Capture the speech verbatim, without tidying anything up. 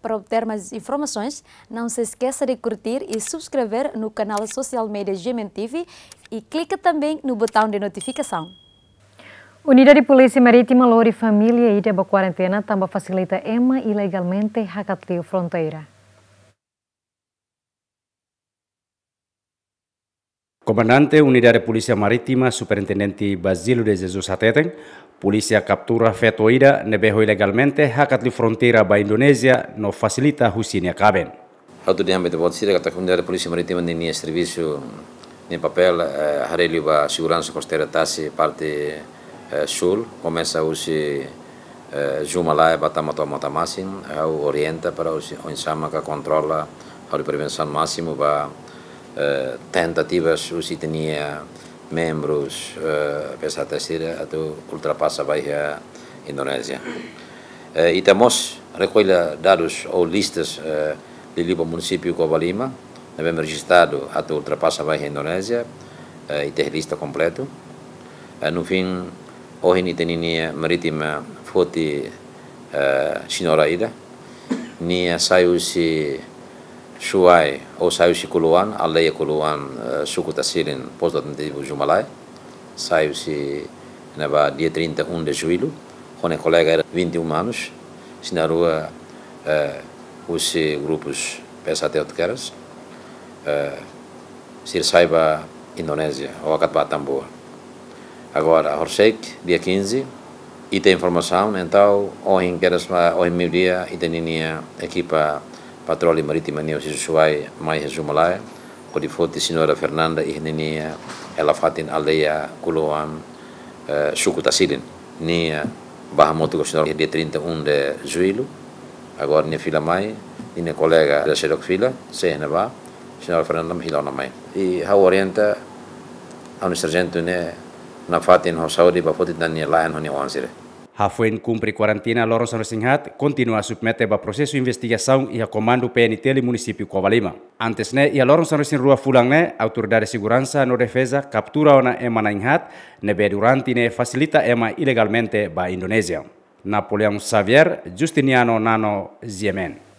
Para obter mais informações, não se esqueça de curtir e subscrever no canal social media G M N T V e clica também no botão de notificação. Unidade Polísia Marítima lori família ida ba kuarentena tanba fasilita ema ilegalmente hakat liu fronteira. Komandante Unidade Polísia Marítima, Superintendente Basílio de Jesus hateten, polísia kaptura feto ida ne'ebé ho ilegalmente hakat liu fronteira ba Indonézia no fasilita husi nia kaben. Ha'u atu dehan ba ita-boot sira katak Unidade Polísia Marítima ninia servisu, nia papél, eh, haree liu ba seguransa kosteira tasi parte, eh, súl, komesa husi, eh, Zumalae ba tama to'o Mota Masin, ha'u orienta para husi oinsá maka kontrola, hodi prevensaun másimu ba, eh, tentativas husi ita-nia membrus, eh, P S H T sira atu ultrapasa ba iha Indonézia. Eh, ita mós rekolla dadus ou listas, eh, liuliu ba munisípiu Covalima, ne'ebé rejistadu atu ultrapasa ba iha Indonézia, eh, ita iha lista kompletu. Eh, no fim, ohin ita-nia marítima foti, eh, señora ida. Nia sai husi Suai, ou sai husi Kuluan, aldeia Kuluan, eh, suku Tasilin, postu administrativu Zumalae. Sai husi ne'ebá dia trinta e um de julho, ho nia kolega ida vinte e um anos, sira na'in-rua, eh, husi grupus P S H T Otkeras, eh, sira sai ba Indonézia, ou hakat ba Atambua. Agora, horisehik, dia quinze, ita informasaun, entaun, ohin kedas, ohin meiudia, ita-nia ekipa patroli marítima nian husi Suai mai iha Zumalae, hodi foti señora Fernanda iha ninia hela-fatin aldeia Kuluan, eh, suku Tasilin. Nia bá hamutuk ho señora dia trinta e um de julho. Agora nia fila mai, nia kolega ida seidauk fila, sei iha ne'ebá, señora Fernanda hela ona mai. I ha'u orienta ha'u-nia sarjentu ne'e nafatin ho saúde ba foti tan nia la'en ho nia oan sira. Hafoin kumpre kuarentena loron sanulu-resin-haat, kontinua submete ba prosesu investigasaun iha Komandu P N T L Munisípiu Covalima. Antes ne'e, iha loron sanulu-resin-rua fulan ne'e, Autoridade Seguransa no Defeza kaptura ona ema na'in-haat, ne'ebé durante ne'e fasilita ema ilegalmente ba Indonézia. Napoleão Xavier, Justiniano Nano, G M N.